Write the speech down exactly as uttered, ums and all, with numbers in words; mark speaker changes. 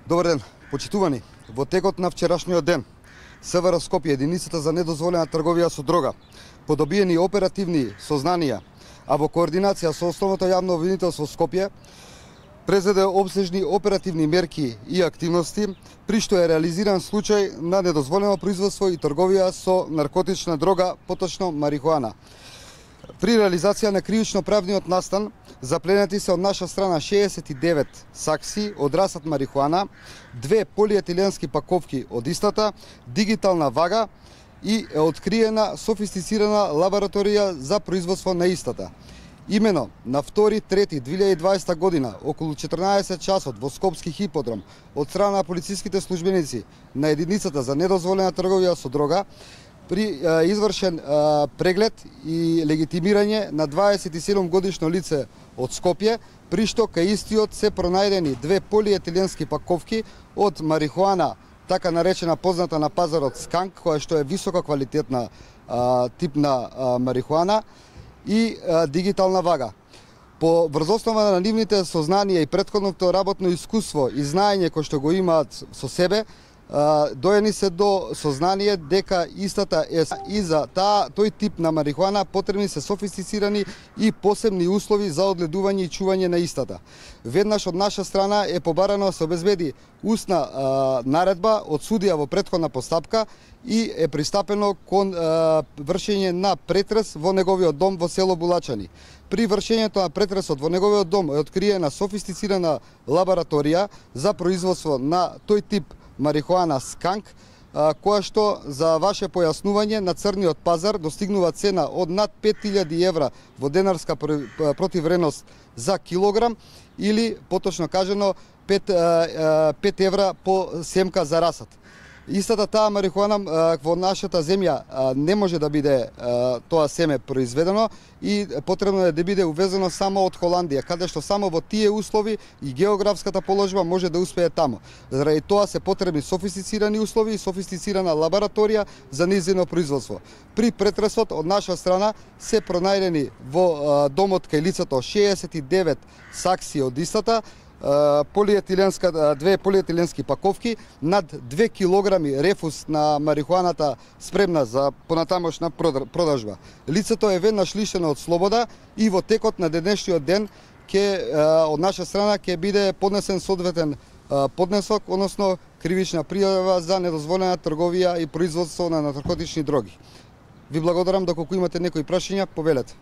Speaker 1: Добар ден, почитувани. Во текот на вчерашниот ден, СВР Скопје, единицата за недозволена трговија со дрога, по добиени оперативни сознанија, а во координација со Основното јавно обвинителство Скопје, презеде обсежни оперативни мерки и активности, при што е реализиран случај на недозволено производство и трговија со наркотична дрога, поточно марихуана. При реализација на кривично-правниот настан, запленети се од наша страна шеесет и девет сакси од расат марихуана, две полиетиленски паковки од истата, дигитална вага и е откриена софистицирана лабораторија за производство на истата. Имено на втори трети две илјади и дваесета година, околу четрнаесет часот во Скопски хиподром, од страна на полициските службеници на единицата за недозволена трговија со дрога, при а, извршен а, преглед и легитимирање на дваесет и седум годишно лице од Скопје, при што кај истиот се пронајдени две полиетиленски паковки од марихуана, така наречена позната на пазарот сканк, која што е висока квалитетна а, тип на а, марихуана, и а, дигитална вага. По врзоснова на нивните сознанија и претходното работно искуство и знаење кој што го имаат со себе, доени се до сознание дека истата е и за таа тој тип на марихуана потребни се софистицирани и посебни услови за одледување и чување на истата. Веднаш од наша страна е побарано да се обезбеди устна а, наредба од судија во претходна постапка и е пристапено кон а, вршење на претрес во неговиот дом во село Булачани. При вршењето на претресот во неговиот дом е откриена софистицирана лабораторија за производство на тој тип марихуана сканк, која што за ваше појаснување на црниот пазар достигнува цена од над пет илјади евра во денарска противвредност за килограм или поточно кажано пет евра по семка за расат. Истата таа марихуана во нашата земја не може да биде тоа семе произведено и потребно е да биде увезено само од Холандија, каде што само во тие услови и географската положба може да успее таму. Заради тоа се потребни софистицирани услови и софистицирана лабораторија за нејзино производство. При претресот од наша страна се пронајдени во домот кај лицето шеесет и девет сакси од истата, полиетиленска, две полиетиленски паковки, над две килограми рефус на марихуаната спремна за понатамошна продажба. Лицето е веднаш лишено од слобода и во текот на денешниот ден ке, од наша страна ќе биде поднесен соодветен поднесок, односно кривична пријава за недозволена трговија и производство на наркотични дроги. Ви благодарам, доколку имате некои прашања, повелете.